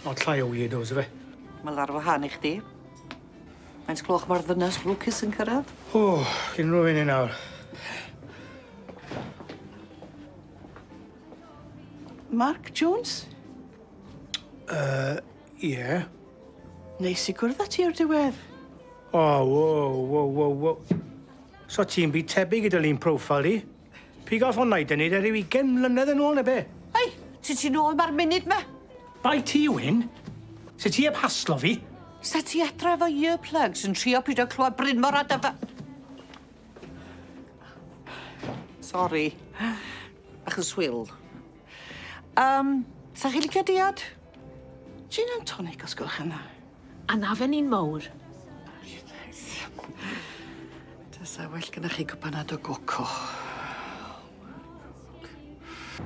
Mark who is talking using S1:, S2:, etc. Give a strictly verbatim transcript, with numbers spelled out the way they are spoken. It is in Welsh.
S1: Not llai o weirdos, yfe?
S2: Mae ar wahân i chdi. Faint gloch mae'r ddynas lwcus yn cyrraedd?
S1: O, unrhyw un i nawr.
S3: Mark Jones?
S1: Yy, ie.
S3: Neis i gwrdd â ti o'r diwedd.
S1: O, wo, wo, wo, wo. So ti'n byd tebyg i dy lun profile di? Pig off o'n naid yn neud e ryw ugain mlynedd yn ôl ne be?
S2: Ei, ti ti nôl ma'r munud ma?
S1: Bai ti, Wyn. Se ti heb haslo fi?
S2: Sa ti adre efo earplugs yn trio pido clywed Bryn Mawr a Dyfa... Sori. Bach yn swil. Um, sa chi licio diod?
S3: Gin and tonic os gwelwch yn dda.
S4: A na fe ni'n mowr.
S2: Fysa well gynnoch chi cwpanad o goco.